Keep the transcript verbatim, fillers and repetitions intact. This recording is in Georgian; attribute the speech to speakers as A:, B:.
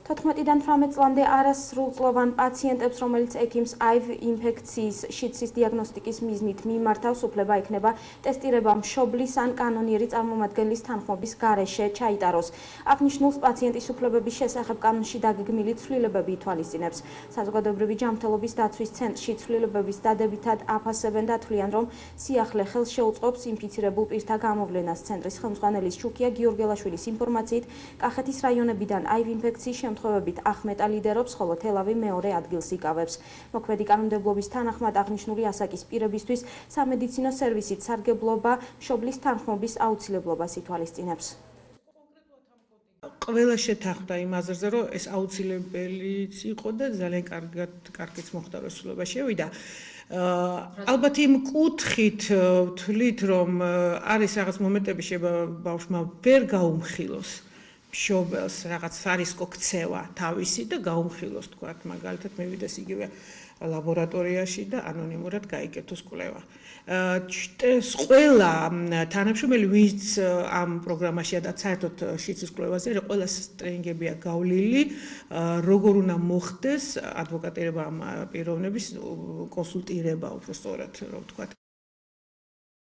A: თოთხმეტიდან თვრამეტ წლამდე არასრულწლოვან პაციენტებს, რომელიც ექიმს აივ ინფექციის შიდსის დიაგნოსტიკის მიზნით მიმართავს, უფლება ექნება ტესტირება მშობლის ან კანონიერი წარმომადგენლის თანხმობის გარეშე ჩაიტაროს. აღნიშნულს პაციენტის უფლებების შესახებ კანონში დაგეგმილი ცვლილებები ითვალისწინებს. საზოგადოებრივი ჯანმრთელობის დაცვის ცენტრში ცვლილებების დადებითად აფასებენ და თვლიან, რომ სიახლე ხელს შეუწყობს ინფიცირებულ პირთა გამოვლენას. ცენტრის ხელმძღვანელის შუქია გიორგელაშვილის ინფორმაციით, კახეთის რაიონებიდან აივ ინფექციის შემთხვევებით ახმეტა ლიდერობს, ხოლო თელავი მეორე ადგილს იკავებს. მოქმედი კანონმდებლობის თანახმად აღნიშნული ასაკის პირებისთვის სამედიცინო სერვისით სარგებლობა მშობლის თანხმობის აუცილებლობას ითვალისწინებს.
B: ყველა შეთანხმდა იმ აზრზე, რომ ეს აუცილებელიც იყო და ძალიან კარგად კარგიც მოხდა, რომ ცვლილება შევიდა. ალბათ იმ კუთხით ვთვლით, რომ არის რაღაც მომენტები, შეიძლება ბავშვმა ვერ გაუმხილოს მშობელს რაღაც არისკო ქცევა თავისი და გაუმხილოს, თქვათ, მაგალითად მივიდეს იგივე ლაბორატორიაში და ანონიმურად გაიკეთოს კვლევა. ყველა თანამშრომელი, ვინც ამ პროგრამაშია და საერთოდ შიდსის კვლევაზე, ყველა ტრენინგებია გავლილი, როგორ უნდა მოხდეს ადვოკატირება ამ პიროვნების კონსულტირება, უფრო სწორად, რომ ვთქვათ.